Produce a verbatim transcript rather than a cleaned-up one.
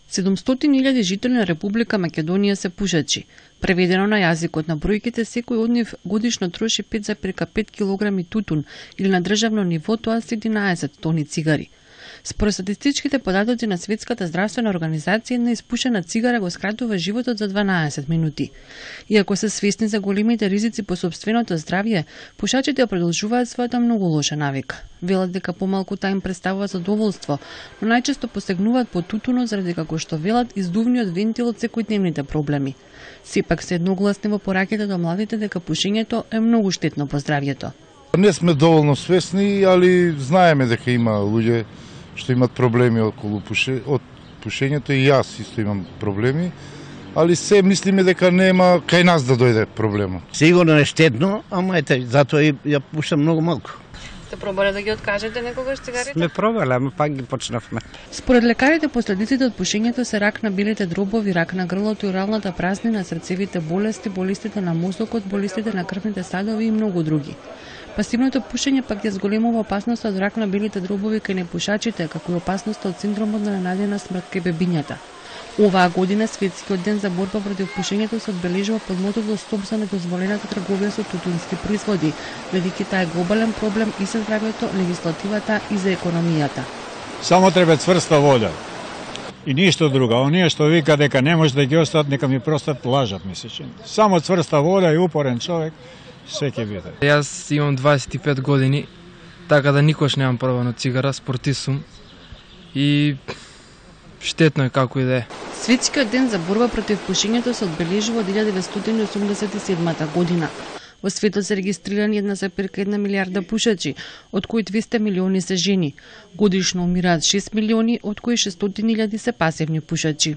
седумстотини илјади жители на Република Македонија се пушачи. Преведено на јазикот на бројките, секој од нив годишно троши пет зарез пет килограми тутун или на државно ниво тоа се единаесет тони цигари. Според статистичките податоци на Светската здравствена организација, една испушена цигара го скратува животот за дванаесет минути. Иако се свесни за големите ризици по сопственото здравје, пушачите ја продолжуваат својата многу лоша навика. Велат дека помалку таа им представува задоволство, но најчесто посегнуваат по тутунот заради како што велат издувниот вентил од секојдневните проблеми. Сепак се едногласни во пораките до младите дека пушењето е многу штетно по здравјето. Не сме доволно свесни, али знаеме дека има луѓе што имат проблеми околу пуше, од пушењето, и јас исто имам проблеми, али се мислиме дека нема кај нас да дојде проблемот. Сигурно е штетно, ама ете, затоа и ја пушам многу малку. Сте пробале да ги откажете некогаш цигарите? Сме пробале, ама пак ги почнавме. Според лекарите, последиците од пушењето се рак на белите дробови, рак на грлото и оралната празнина, срцевите болести, болестите на мозокот, болестите на крвните садови и многу други. Пасивното пушење пак ја зголемува опасноста од рак на белите дробови кај непушачите, како и опасноста од синдромот на ненадена смрт кај бебињата. Оваа година Светскиот ден за борба против пушењето се одбележува под мотото "Стоп за недозволената трговија со тутунски производи", бидејќи таа е глобален проблем и за здравјето, легислативата и за економијата. Само треба цврста воља и ништо друго. Оние што вика дека не може да ги остават, нека ми простат, лажат, мислече. Само цврста воља и упорен човек се ќе биде. Јас имам дваесет и пет години, така да никош немам пробано цигара, спортист сум и штетно е како и да е. Светскиот ден за борба против пушењето се одбележува од илјада деветстотини осумдесет и седма година. Во светот се регистрирани една зарез една милијарда пушачи, од кои двесте милиони се жени. Годишно умираат шест милиони, од кои шестстотини илјади се пасивни пушачи.